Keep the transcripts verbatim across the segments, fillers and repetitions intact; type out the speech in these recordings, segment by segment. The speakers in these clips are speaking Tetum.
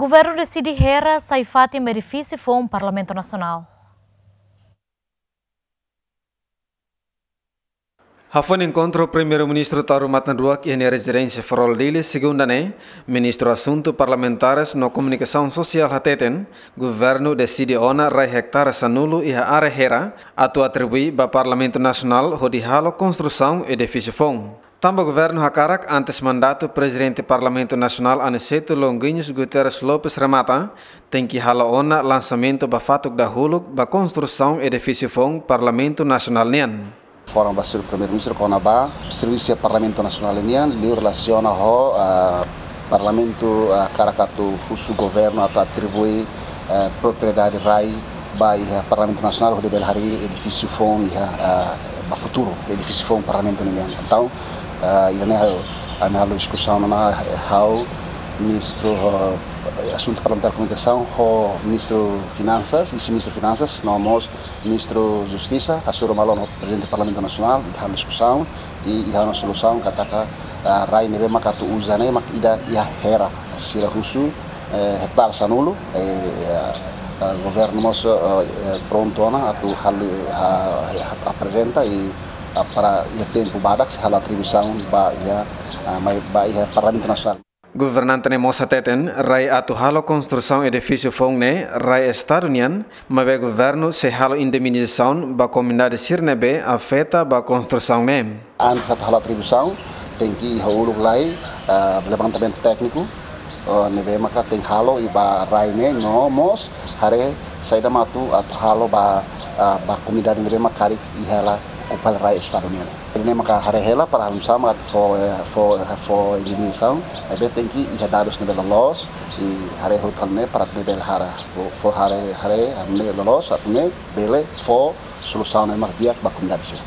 Governu deside hera sai fatin ba edifísiu foun Parlamentu Nasionál. Hafoin enkontru Primeiru-Ministru Taur Matan Ruak iha nia rezidénsia Farol, Dili, segunda ne'e, Ministru Asuntu Parlamentares no Komunikasaun Sosiál hateten, governu deside ona rai ektare sanulu iha área hera atu atribui ba Parlamentu Nasionál hodi halo konstrusaun edifísiu foun. Tanba governu hakarak antes mandatu Prezidente Parlamentu Nasionál Aniceto Longuinhos Guterres Lopes remata, tenke halo ona lansamentu ba fatuk dahuluk ba konstrusaun edifísiu foun Parlamentu Nasionál nian. Informa ba Señór Primeiru-Ministru kona-ba servisu Parlamentu Nasionál nian, liu relasiona ho, ah, Parlamentu, ah, hakarak atu husu governu atu atribui, eh, propriedade rai ba iha Parlamentu Nasionál hodi bele harii edifísiu foun iha, ah, ba futuru, edifísiu foun Parlamentu nian. Entaun, ah, ida-ne'e ha'u, ami halo diskusaun ona, eh, ha'u, Ministru, eh, Asuntu Parlamentar Komunikasaun, ho Ministru Finansas, Vise-Ministru Finansas, no mós Ministru Justisa, hasoru malu ona ho Prezidente Parlamentu Nasionál, ita halo diskusaun, i, i halo solusaun katak, ah, rai ne'ebé maka atu uza ne'e mak ida iha hera, sira husu, eh, ektare sanulu, eh, ah, ah, governu mós, eh, eh, prontu ona atu halo, ah, ah, aprezenta i, ah, para iha tempu badak sei halo atribuisaun ba iha, ah, mai, ba iha Parlamentu Nasionál. Governante ne'e mós hateten, rai atu halo konstrusaun edifísiu foun ne'e rai Estadu nian, maibé governu sei halo indemnizasaun ba komunidade sira ne'ebé afeta ba konstrusaun ne'e. Antes atu halo atribuisaun, tenke iha uluk lai, ah, levantamentu tékniku, ah, ne'ebé maka tenke halo iha rai ne'e, no mós haree saida mak atu, atu halo ba, ah, ba komunidade ne'ebé maka karik iha hela okupa rai Estadu nian. Ne'e maka haree hela para halo sama atu fó, eh, fó, eh, fó indemnizasaun, ne'ebé tenke iha dadus ne'ebé loloos, i haree hotu hal ne'e para atu bele haree, fó, fó haree, haree, haree ne'e loloos, atu nune'e bele fó solusaun ne'ebé mak di'ak ba komunidade sira.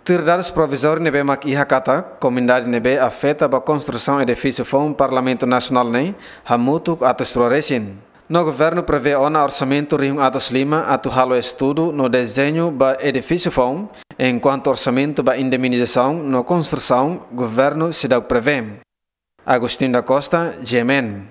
Tuir dadus provizóriu ne'ebé mak iha katak, komunidade ne'ebé afeta ba konstrusaun edifísiu foun Parlamentu Nasionál ne'e, hamutuk atus rua resin. No governu prevee ona orsamentu rihun atus lima atu halo estudu no dezeñu ba edifísiu foun, enkuantu orsamentu ba indemnizasaun no konstrusaun governu seidauk prevee. Agostinho da Costa, G M N.